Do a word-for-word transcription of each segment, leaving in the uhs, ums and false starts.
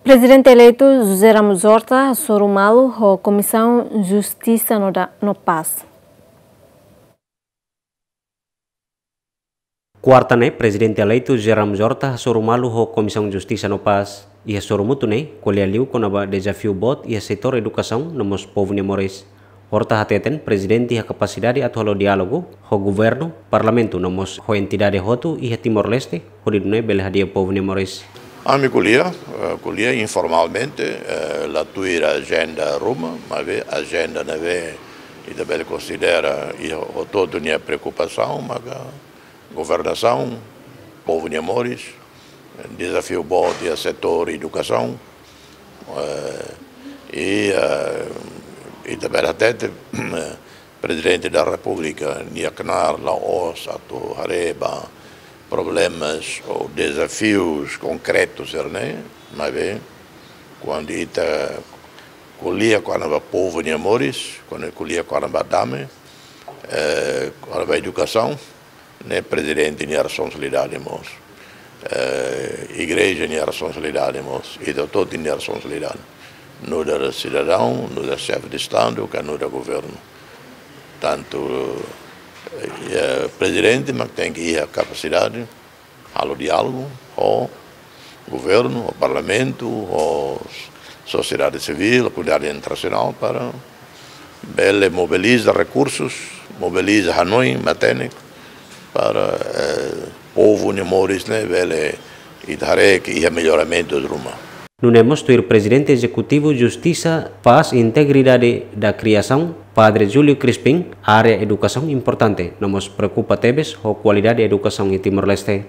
Prezidente eleitu José Ramos Horta hasoru malu ho Komisaun Justisa no da-, no Pás. Kuarta ne'e, Prezidente eleitu José Ramos Horta hasoru malu ho Komisaun Justisa no Pás. Iha sorumutu ne'e, ko'alia liu kona-ba dezafiu boot iha setór edukasaun no mós povu nia moris. Horta hateten, Prezidente iha kapasidade atu halo diálogu ho governu, parlamentu no mós ho entidade hotu iha Timor-Leste, hodi nune'e bele hadi'a povu nia moris. Ami ko'alia, eh, ko'alia informalmente, eh, la tuir ajenda ruma, maibé ajenda ne'ebé ita bele konsidera iha hotu-hotu nia preokupasaun, maka governasaun, povu nia moris, dezafiu boot iha setór edukasaun, eh, i, eh, ita bele hatete, Prezidente da Repúblika nia knaar la'ós atu haree ba problemas ou dezafius konkretus sira-ne'e, maibé kuandu ita ko'alia kona-ba povu nia moris, kuandu ko'alia kona-ba dame, eh, kona-ba edukasaun, ne'e Prezidente nia responsabilidade mós. Eh, igreja nia responsabilidade mós. Ita hotu-hotu nia responsabilidade. Nu'udar sidadaun, nu'udar xefe de Estadu, ka nu'udar governu. Tantu, eh, Prezidente mak tenke iha kapasidade halo diálogu ho governu, ho parlamentu, ho sosiedade sivíl, komunidade internasionál para bele mobiliza rekursus, mobiliza hanoin, matenek, para, eh, povu nia moris ne'e bele ita haree ke iha melloramentus ruma. Nune'e mós tuir Prezidente Ezekutivu Justisa, Pás i Integridade da Kriasaun, Padre Júlio Crispim, área edukasaun importante, no mós preokupa tebes ho kualidade edukasaun iha Timor-Leste.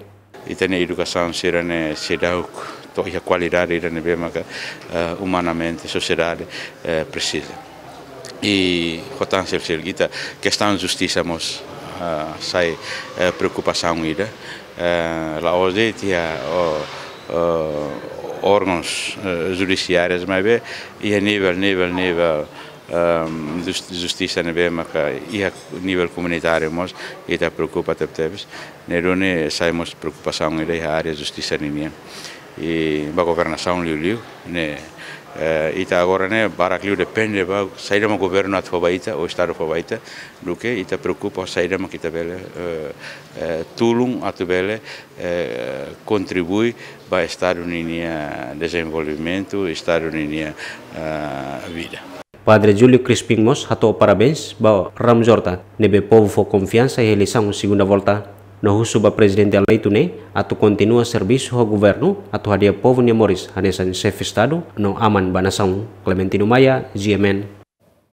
Ita-nia edukasaun sira-ne'e seidauk to'o iha kualidade ida ne'ebé maka, eh, umanamente sosiedade, eh, presiza. I ho tan sel-sel ita kestaun justisa mós, eh, sai, eh, preokupasaun ida. Eh, la'ós de'it iha, o, o, órgauns, eh, judisiárius, maibé iha nivel, nivel, nivel, ehm, jus-, justisa ne'ebé maka iha nivel komunitáriu mós ita preokupa tebetebes. Ne'e duni sai mós preokupasaun ida iha área justisa ninian. I ba governasaun liuliu, ne'e, eh, ita agora ne'e barak liu depende ba saida mak governu atu fó ba ita, ou Estadu fó ba ita, duké ita preokupa saida mak ita bele, eh, eh, tulun atu bele, eh, kontribui ba Estadu ninia dezenvolvimentu, Estadu ninia, eh, vida. Padre Júlio Crispim mós hato'o parabéns ba Ramos Horta, ne'ebé povu fó konfiansa iha eleisaun segunda volta. No husu ba Prezidente eleitu ne'e atu kontinua servisu ho governu atu hadi'a povu nia moris hanesan xefe Estadu no aman ba nasaun. Clementino Maia, G M N.